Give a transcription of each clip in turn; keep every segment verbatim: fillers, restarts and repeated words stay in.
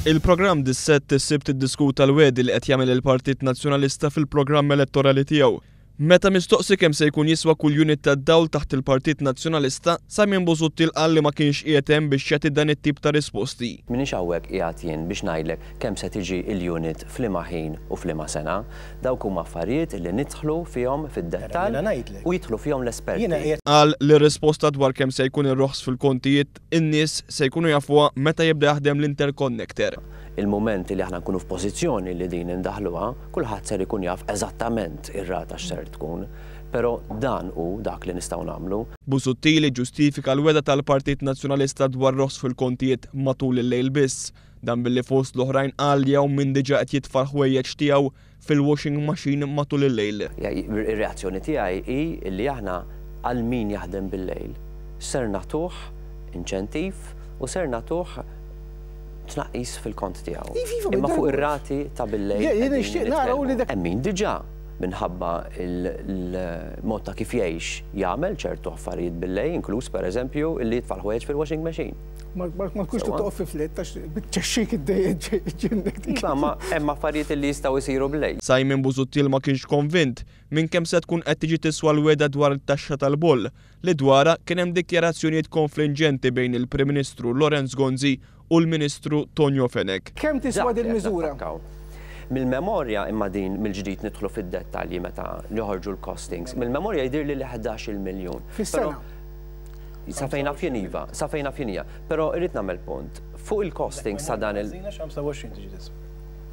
Il-programm Dissett is-Sibt iddiskuta l-wegħdi li qed jagħmel il-Partit Nazzjonalista fil-programm elettorali tiegħu. Meta mistoqsi kemm se jkun jiswa kull unit ta' dawl taħt il-Partit Nazzjonalista, Simon Busuttil qal li ma kienx qiegħed hemm biex jagħti dan it-tip ta' risposti. M'iniex hawnhekk qiegħed jien biex ngħidlek kemm se tiġi il-unit f'liema ħin u f'liema sena. Dawk huma affarijiet li nidħlu fihom fid-dettall u jidħlu fihom l-esperti. Qal li risposta dwar kemm se jkun ir-roħs fil-kontijiet in-nies se jkunu jafuha meta jibda jaħdem l-interconnector. Il-moment li aħna nkunu f'pożizzjoni li din indaħluha, kulħadd ser ikun jaf eżattament ir-rata x'ser tkun, però dan hu dak li nistgħu nagħmlu. Busuttil ġustifika l-wegħda tal-Partit Nazzjonalista dwar roħs fil-kontijiet matul il-lejl biss. Dan billi fost l-oħrajn qal li hawn min diġà qed jitfa' ħwejjeġ tiegħu fil-washing machine matul il-lejl. Ir-reazzjoni tiegħi hi li aħna għal min jaħdem bil-lejl ser nagħtuh inċentiv u ser nagħtuh tnaqqis fil-kont tiegħu. Imma fuq ir-rati ta' bil-lejl. Jien nixtieq nara li dak. Hemm min diġà minħabba il-mod ta' kif jgħix jagħmel ċertu affarijiet bil-lejl, inkluż pereżempju illi jitfa' l-ħwejjeġ fil-washing machine. Ma tkunx toqgħod fi flit għax biċċexxik id-dejjem. Iva, ma hemm affarijiet li jistgħu jsiru bil-lejl. Simon Busuttil ma kienx konvint minn kemm se tkun qed tiġi tiswa l-wegħda dwar it-taxxa tal-boll li dwarha kien hemm dikjarazzjonijiet konfliġġenti bejn il-Prim Ministru Lawrence Gonzi u l-Ministru Tonio Fenech. Kemm tiswa din miżura? Mill-memorja, imma din mill-ġdid nidħlu fid-dettalji meta joħorġu l-costings, mill-memorja jidhir li ħdax-il miljun. Fis-sena? Sa fejn naf jien iva, sa fejn naf jien hija. Però irrid nagħmel punt. Fuq il-costings sa dan il-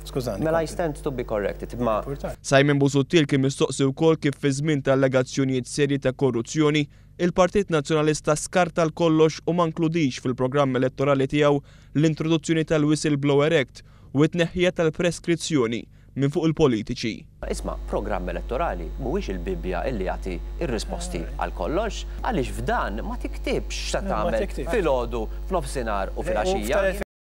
Skużani. Mela I stand to be corrected, ma Simon Busuttil kien mistoqsi wkoll kif fi żmien ta' allegazzjonijiet serji ta' korruzzjoni, il-Partit Nazzjonalista skarta l-kollox u ma nkludix fil-programm elettorali tiegħu l-introduzzjoni tal-Whistleblower Act u t-tneħħija tal-preskrizzjoni minn fuq il-politiċi. Isma', programm elettorali mhuwiex il-Bibbja illi jagħti ir-risposti għal kollox, għaliex f'dan ma tiktibx x'se tagħmel filgħodu, f'nofsinhar u filgħaxija.